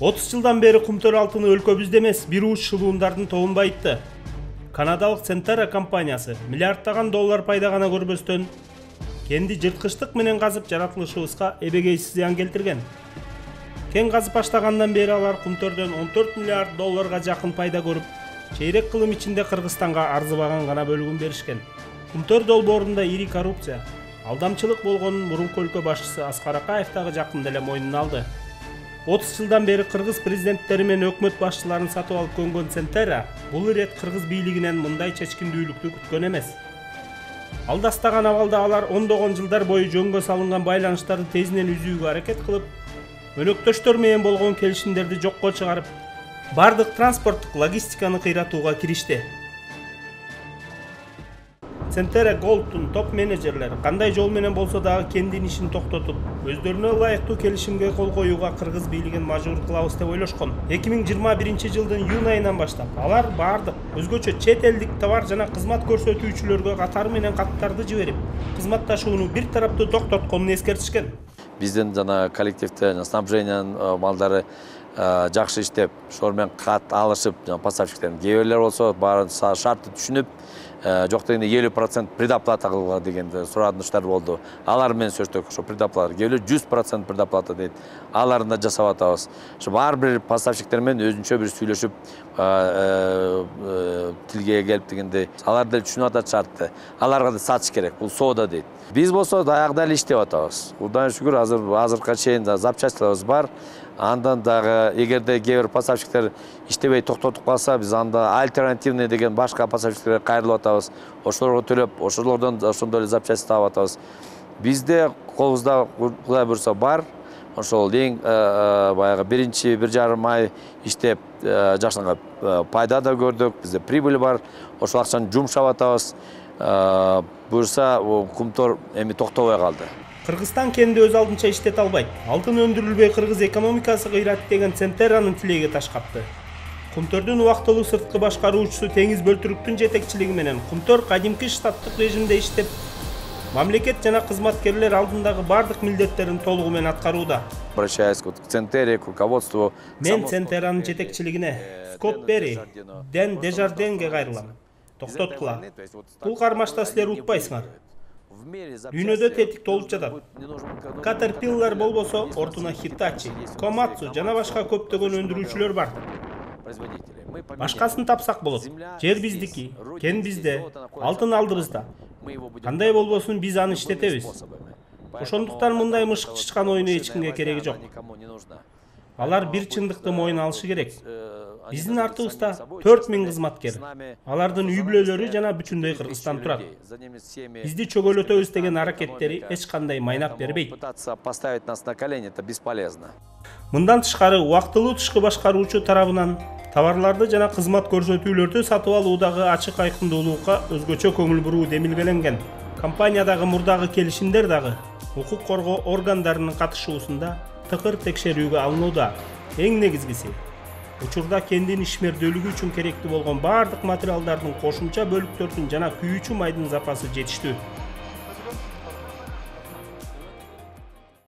30 жылдан бeri кумтөр алтыны өлкөбүздө эмес, бир уч шылуундардын тобун байытты. Канадалык Centerra компаниясы миллиарддаган доллар пайда гана көрбөстөн, кенди жырткычтык менен казып жаратылышыбызга эбегейсиз зыян келтирген. Кен казып баштагандан бери алар кумтөрдөн 14 миллиард долларга жакын пайда көрүп, чейрек кылым ичинде Кыргызстанга арзыбаган гана бөлүгүн беришкен. Кумтөр долбоорунда ири коррупция, алдамчылык болгонун мурунку өлкө башчысы Аскар Акаев дагы жакында эле мойнуна алды. 30 жылдан бери кыргыз президенттери менен өкмөт башчыларын сатып алып көнгөн Centerra бул ирет кыргыз бийлигинен мындай чечкиндүүлүктү күткөн эмес. Алдастаган абалда алар ондогон жылдар бою жөнгө салынган байланыштарды тезинен үзүүгө аракет кылып, өнөктөштөр менен болгон келишимдерди жокко чыгарып, бардык транспорттук логистиканы кыйратууга киришти. Centerra Gold'ун топ менеджерлери кандай жол менен болсо дагы кендин ишин токтотуп, өздөрүнө ылайыктуу келишимге кол коюуга кыргыз бийлигин мажбур кылабыз деп ойлошкон. 2021 жылдын июнь айынан баштап алар бардык өзгөчө чет элдик товар жана кызмат көрсөтүүчүлөргө катары менен каттарды жиберип, кызматташууну бир тараптуу токтотконун эскертишкен. Биздин жана коллективде снабжениянын малдары жакшы иштеп, ошол менен кат алышып, поставщиктердин кээ бирлер болсо баарын шартты түшүнүп, жок дегенде 50% предоплата кылууга деген сураныштар болду. Алар менен сөздөк, ошо предоплата, кээ бирлер 100% предоплата дейт. Аларын да жасап атабыз. Ошо ар бир поставщиктер менен өзүнчө бир сүйлөшүп, тилге келип дегенде, алар деле түшүнүп атат шартты. Аларга да сатыш керек, бул соода дейт. Биз болсо даягында эле иштеп атабыз. Кудайга шүгүр, азыркыга чейин запчастьларыбыз бар. Андан дагы эгерде кээ бир поставщиктер иштебей токтотуп калса, биз анда альтернативный деген башка поставщиктерге кайрылып атабыз. Ошолорго төлөп, ошолордон ошондой эле запчасть таап атабыз. Бизде колубузда Кудай буйруса бар. Ошол эң баягы биринчи 1,5 ай иштеп жакшыга пайда да көрдүк. Бизде прибыль бар. Ошол акчаны жумшап атабыз. Буйруса кумтор эми токтобой калды. Кыргызстан кенди өз алдынча иштете албайт. Алтын өндүрүлбөй кыргыз экономикасы кыйрат деген Centerra'нын тилеги таш капты. Кумтөрдүн убактылуу сырткы башкаруучусу Теңиз Бөлтүрүктүн жетекчилиги менен кумтөр кадимки штаттык режимде иштеп, мамлекет жана кызматкерлер алдындагы бардык милдеттерин толугу менен аткарууда. Обращаюсь к Centerra, к руководству. Мен Centerra'нын жетекчилигине, Скотт Берри, Дэн Дежарденге кайрылам. Токтоткула. Бул кармашта силер утпайсыңар. Дүйнөдө тетик толуп жатат. Caterpillar болбосо, ортуна Hitachi, Komatsu жана башка көптөгөн өндүрүүчүлөр бар. Башкасын тапсак болот. Жер биздики, кен бизде, алтын алдыбызда. Кандай болбосун биз аны иштетебиз. Ошондуктан мындай мышык чычкан оюну эч кимге кереги жок. Алар бир чындыкты мойнуна алышы керек. Биздин артыбызда 4000 кызматкер. Алардын үй бүлөлөрү жана бүтүндөй Кыргызстан турат. Бизди чөгөлөтөбүз деген аракеттери эч кандай майнап бербейт. Поставить нас на колени это бесполезно. Мындан тышкары убактылуу тышкы башкаруучу тарабынан товарларды жана кызмат көрсөтүүлөрдү сатып алуудагы ачык айкындуулукка өзгөчө көңүл буруу демилгеленген. Компаниядагы мурдагы келишимдер дагы укук коргоо органдарынын катышуусунда тыкыр текшерүүгө алынууда. Эң негизгиси учурда кендин ишмердүүлүгү үчүн керектүү болгон бардык материалдардын кошумча бөлүктөрдүн жана күйүүчү майдын запасы жетиштүү.